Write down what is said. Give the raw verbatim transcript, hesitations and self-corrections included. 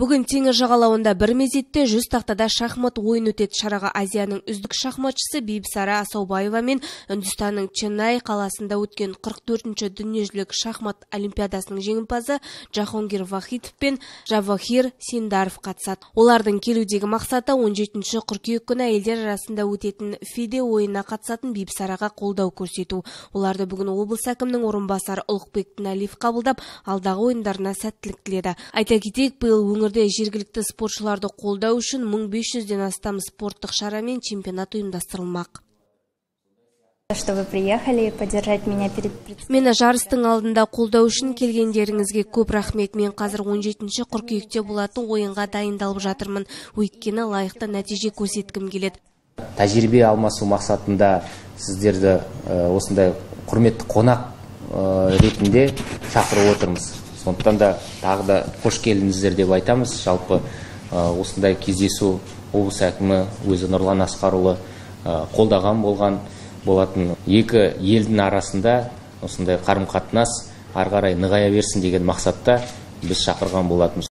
Бүгін теңіз жағалауында бір мезетте жүз тақтада шахмат ойын өтеді. Шараға Азияның үздік шахматшысы Бибісара Асаубаева мен Үндістанның Ченнай қаласында өткен қырық төртінші дүниежүзілік шахмат олимпиадасының жеңімпазы Джахонгир Вахидов пен Джавахир Синдаров қатысады. Олардың келудегі мақсаты он жетінші қыркүйек күні әйелдер арасында өтетін фиде ойынына қатысатын Бибісараға қолдау көрсету. Оларды бүгін облыс әкімінің орынбасары Ұлықбек Тіналиев қабылдап, алдағы ойындарына сәттілік тіледі. Айта кетейік, биыл өңірде жергілікті спортшыларды қолдау үшін мың бес жүзден астам спорттық шара мен чемпионат ұйымдастырылмақ. Что вы приехали поддержать меня перед... Мені жарыстың алдында қолдау үшін келгендеріңізге көп рахмет. Мен қазір он жетінші қыркүйекте болатын ойынға дайындалып жатырмын. Өйткені лайықты нәтиже көрсеткім келеді. Тәжірибе алмасу мақсатында сіздерді осындай құрметті қонақ ретінде шақырып отырмыз. Сондықтан да тағы да қош келдіңіздер деп айтамыз. Жалпы осындай кездесу облыс әкімі өзі Нұрлан Асқарұлы қолдаған болған болатын. Екі елдің арасында осындай қарым-қатынас ары қарай нығая берсін деген мақсатта біз шақырған болатынбыз.